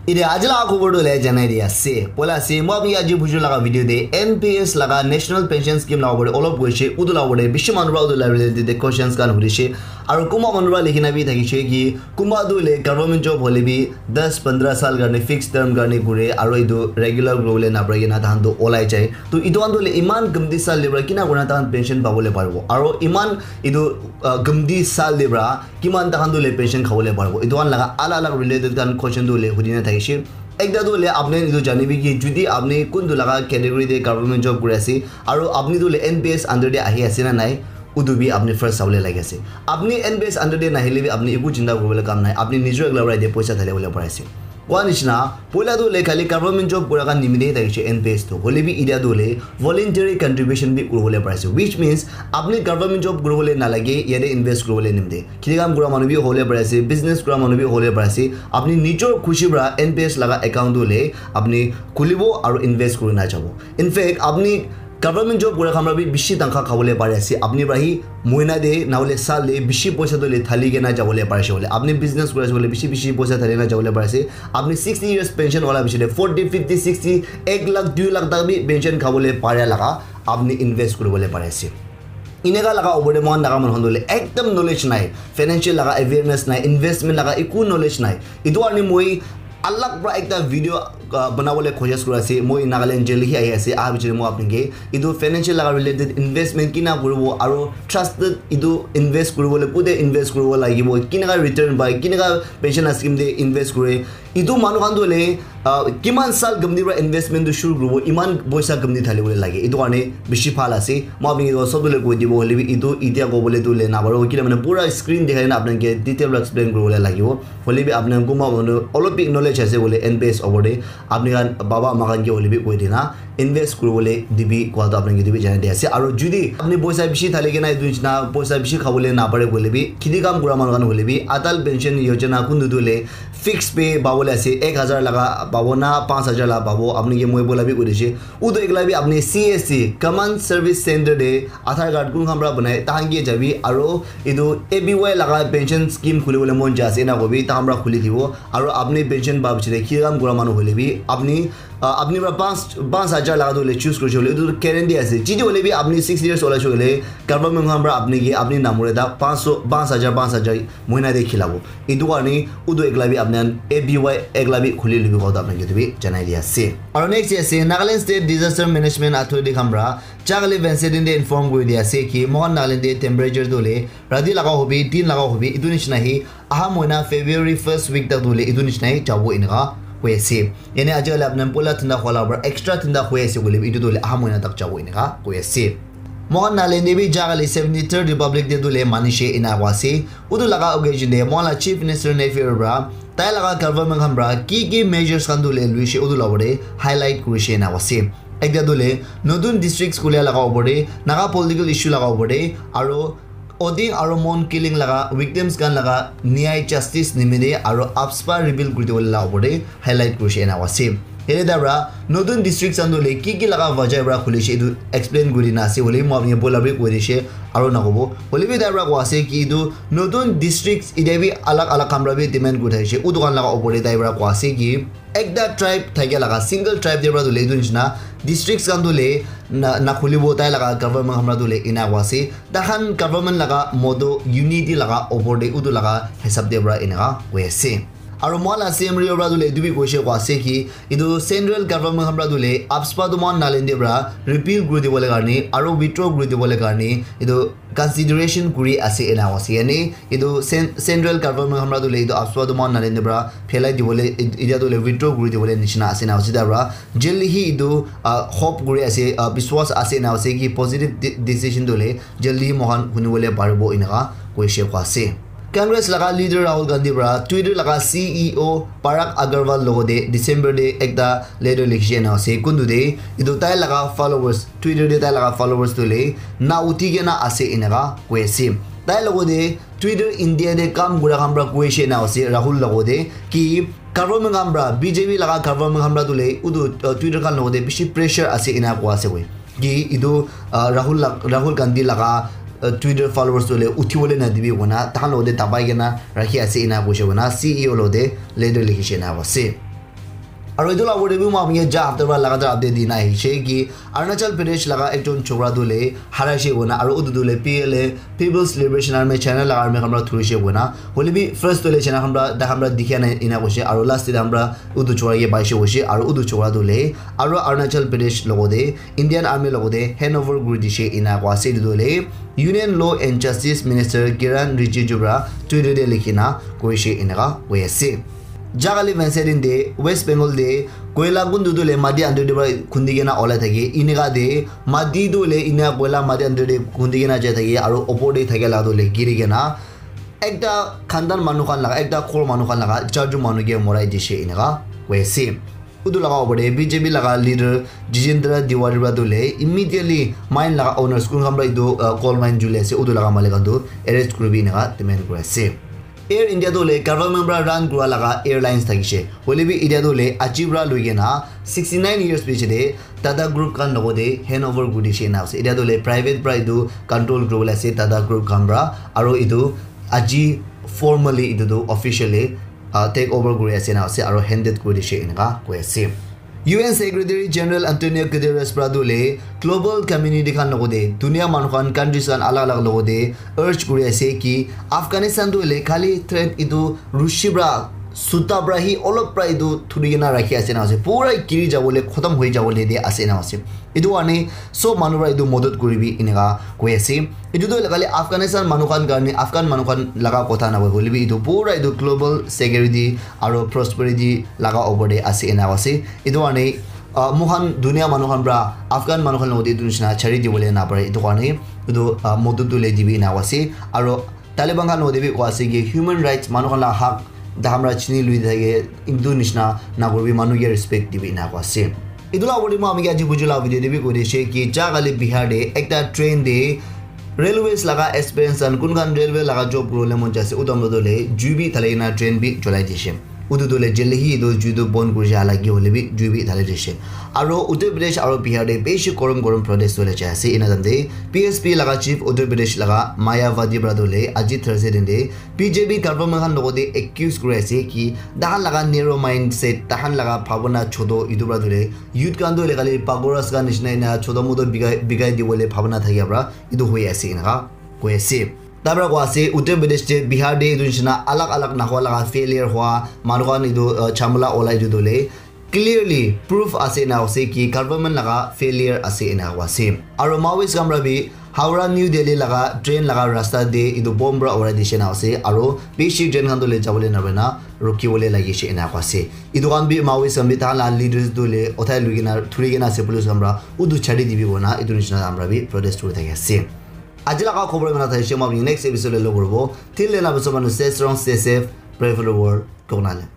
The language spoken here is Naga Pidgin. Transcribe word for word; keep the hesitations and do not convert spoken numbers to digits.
Ite aji laga khobor tu le janai di ase. Poila ase, moi apni aji bujur laga video de N P S laga National Pension Scheme laga opor te olop koise, utu laga opor te bishi manu para utu laga related te questions khan hurise. Aru kunba manu para likhi na bi thakise ki, kunba tu le government job hole bi das pondra sal karne fixed term karne kure, aru etu regular kuri bole napare kena tahan tu olai jai. To etu khan tu le iman gamti sal le para kina kurina tahan pension pabole paribo. Aru iman etu, ah, gamti sal le para kiman tahan tu le pension khabole paribo. Etu khan laga alag alag related khan question tu le hudi na thakise. Ekta tu le apni etu janibi ki judi apni kuntu laga category te government job kuri ase, aru apni tu le N P S under te ahi ase na nai, utu bi apni first sabole lagi ase. Apni N P S under te nahile bi apni eku chinta kuribole kam nai. Apni nijor ekla para ite poisa dhali bole pari ase. Koa nishina, poila tu le khali government job kura khan nimite thakise N P S tu. Hole bi itia tu le voluntary contribution bi kuribole pari ase. Which means, apni government job kuribole nalage, yate invest kuribole nimite. Kheti kam kura manu bi hole pari ase, business kura manu bi hole pari ase. Apni nijor khushi para N P S laga account tu le apni khulibo aru invest kuri na jabo. In fact, apni government job kura khan para bi bishi tangkha khabole pari ase. Apni para hi mohina de, nahole sal de bishi poisa tu le thali kena jabole pari ase bole. Apni business kuri ase bole, bishi bishi poisa thali kena jabole pari ase. Apni sixty years pension wala bishi de, forty, fifty, sixty, ek lakh, dui lakh tak bi pension khabole pari laga apni invest kuribole pari ase. Ineka laga opor te moikhan Naga manu khan tu le ekdam knowledge nai, financial laga awareness nai, investment laga eku knowledge nai. Etu karne moi alag para ekta video, ah, banabole koshis kuri ase. Moi Nagaland jail hi ahi ase, aha bichare moi apni ke etu financial laga related investment kina kuribo aru trusted etu invest kuribole kute invest kuribo lagibo, kineka return pai, kineka pension scheme te invest kure, etu manu khan tu le, ah, kiman sal gamti para investment tu shuru kuribo, iman poisa gamti thali bole lage. Etu karne bishi bhal ase. Moi apni ke sob tu le koi dibo, hole bi etu itia kobole tu le naparo, kile mane pura screen dikhai na apni ke detail para explain kuribole lagibo. Hole bi apni kunba manu olop bi knowledge ase bole N P S opor te, apni khan baba ama khan ke hole bi koi dina invest kuribole dibi koa tu apni ke dibi janai di ase. Aru judi apni poisa bishi thali kena etu nishina poisa bishi khabole napare koile bi, kheti kam kura manu khan hole bi, Atal Pension Yojana kuntu tu le fixed pay pabole ase, ek hajar laga pabo na panch hajar laga pabo, apni ke moi bola bi koi dise. Utu ekla bi apni C S C, Common Service Center te Aadhaar card kun khan para banai, tahan ke jabi, aru etu A P Y laga pension scheme khuli bole mon jai ase, ena kobi, tahan para khuli dibo, aru apni pension pa bichare ki kam kura manu hole bi, apni, ah, apni para panch, panch hajar laga tu le choose kurise bole, etu tu guarantee ase. Jiti hole bi apni six years ola hoile, government khan para apni ke, apni namore ta panch so, panch hajar, panch hajar, mohina te khilabo. Etu karne utu ekla bi apni khan A P Y ekla bi khuli lobi koa tu apni khan ke etu bi janai di ase. Aru next ase Nagaland State Disaster Management Authority khan para jagale Wednesday din te inform kuri di ase ki moikhan Nagaland te temperature tu le rati laga hobi, din laga hobi, etu nishina hi aha mohina February first week tak tu le etu nishina hi jabo eneka koi ase. Yane aji kali apni khan poila thanda hua laga para extra thanda hoi ase koile bi etu tu le aha mohina tak jabo eneka koi ase. Moikhan Nagaland te bi jagale seventy-third Republic Day tu le manishe ena koa ase. Utu laga occasion te moikhan la Chief Minister Neiphiu Rio para tai laga government khan para ki ki measures khan tu le luise utu laga opor te highlight kurise ena koa ase. Ekta tu le notun districts khulia laga opor te, Naga political issue laga opor te, aru Oding aru Mon killing laga victims khan laga nyay justice nimite aru AFSPA repeal kuri dibole laga opor te highlight kurise ena koa ase. Yate tai para notun district khan tu le ki ki laga wajah para khulise etu explain kuri na ase, hoile bi moi apni ke poila bi koi dise aru nakobo. Hoile bi tai para koa ase ki etu notun district ite bi alag alag khan para bi demand kuri thakise, utu khan laga opor te tai para koa ase ki ekta tribe thakia laga single tribe te para tu le etu nishina districts khan tu le na, na khulibo tai laga government khan para tu le ena koa ase. Tahan government laga motto unity laga opor te utu laga hisab te para eneka koi ase. Aru moikhan la C M Rio para tu le etu bi koise koa ase ki etu central government khan para tu le AFSPA tu moikhan Nagaland te para repeal kuri dibole karne aru withdraw kuri dibole karne etu consideration kuri ase ena koa ase. Yane etu cen-, central government khan para tu le etu AFSPA tu moikhan Nagaland te para phelai dibole, et-, etia tu le withdraw kuri dibole nishina ase ena koa ase. Tai para jaldi hi etu, ah, hope kuri ase, ah, biswas ase ena koa ase ki positive de-, decision tu le jaldi moikhan huni bole paribo eneka koise koa ase. Congress laga leader Rahul Gandhi para Twitter laga C E O Parag Agrawal logote December te ekta letter likhise ena ase. Kuntu te etu tai laga followers, Twitter te tai laga followers tu le na uthi kena ase eneka koi ase. Tai logote Twitter India te kam kura khan para koise ena ase Rahul logote ki government khan para, B J P laga government khan para tu le utu, uh, Twitter khan logote bishi pressure ase ena koa ase koi. Ki etu, uh, Rahul la-, Rahul Gandhi laga, uh, Twitter followers tu le uthi bole na dibi koina tahan logote dabai kena rakhi ase ena koise koina C E O logote letter likhise ena koa ase. Aru etu la opor te bi moi apni ke ja hafta para lagatar update dina ahishe ki Arunachal Pradesh laga ekjon chokra tu le haraishe koina, aru utu tu le P L A, People's Liberation Army, China laga army khan para thurishe koina. Hoile bi first tu le China khan para, ta khan para dikhia nai ina koishe, aru last te ta khan para utu chokra ke paishe koishe, aru utu chokra tu le aru Arunachal Pradesh logote Indian army logote handover kuri dishe ina koa ase. Etu tu le Union Law and Justice Minister Kiran Rijiju para Twitter te likhina koishe eneka koi ase. Jagali Wednesday din te West Bengal te koila kuntu tu le mati under te para khundi kena olai thake. Eneka te mati tu le ina koila mati under te khundi kena jai thake aru opor te thake la tu le giri kena ekta khandan manu khan laga, ekta khor manu khan laga charjon manu ke morai dishe eneka koi ase. Utu laga opor te B J P laga leader Jitendra Tiwari para tu le immediately mine laga owners kun khan para etu uh, coal mine juli ase utu laga malik khan tu arrest kuribi eneka demand kuri ase. Air India tu le government para run kura laga airlines thakishe. Hoile bi India tu le aji para loi kena sixty nine years piche te Tata Group khan logote handover kuri dishe na ase. India tu le private para etu control kuribole ase Tata Group khan para, aru etu aji formally etu tu officially uh, take over kuri ase na ase aru handed kuri dishe eneka koi ase. U N Secretary General Antonio Guterres para tu le global community khan logote dunia manu khan countries khan alag alag logote urge kuri ase ki Afghanistan tu le khali threat etu rushi para suta para hi olop para etu thuri kena rakhi ase na ase, pura giri jabole khotom hoi jabole de ase na ase. Etu karne sob manu para etu modot kuribi eneka koi ase. Etu tu khali Afghanistan manu khan karne, Afghan manu khan laga kotha na hoile bi etu pura etu global security aru prosperity laga opor te ase ena ase. Etu karne uh, moikhan dunia manu khan para Afghan manu khan logote etu nishina chari dibole na pare. Etu karne etu uh, modot tu le dibi ena ase. Aru Taliban khan logote bi koi ase ki human rights manu khan la hak dahamra chini lui thake etu nishina na kuribi, manu ke respect dibi ena koi ase. Etu la opor te moi apni ke aji buju la video te bi koi dishe ki ja kali Bihar te ekta train te railways laga experience khan kun khan railway laga job kuribole mon jai ase utam lo le jui bi thalai kena train bi cholai dishe. Utu tu le jeli hi etu jui tu bon kuri ja lagi hoile bi jui bi thali dishe. Aru Uttar Pradesh aru Bihar te bishi gorom gorom protest hole jai ase. Ena time te P S P laga chief Uttar Pradesh laga Mayawati para tu le aji Thursday din te B J P government khan logote accuse kuri ase ki tahan laga narrow mindset, tahan laga bhabana choto etu para tu le youth khan tu le khali pagoras khan nishina ena choto moto bigai bigai dibole bhabana thakia para etu hoi ase eneka koi ase. Tabra koi ase Uttar Pradesh te Bihar te etu nishina alag alag nahua laga failure hua manu khan etu uh, chamala olai etu tu le clearly proof ase ena ase ki government laga failure ase ena koi ase. Aru Maoist khan para bi Howrah New Delhi laga train laga rasta te etu bomb para urai dishe na ase aru bishi train khan tu le jabole na pare na rukibole lagi she ena koi ase. Etu khan bi Maoist khan bi tahan la leaders tu le uthai lui kena thuri kena ase police khan para utu chari dibi koi na etu nishina khan para bi protest kuri thaki ase. Aji laga khobor iman thakishe, moi apni next episode te log kuribo. Till then, apni sob manu stay strong, stay safe, pray for the world. Koknale.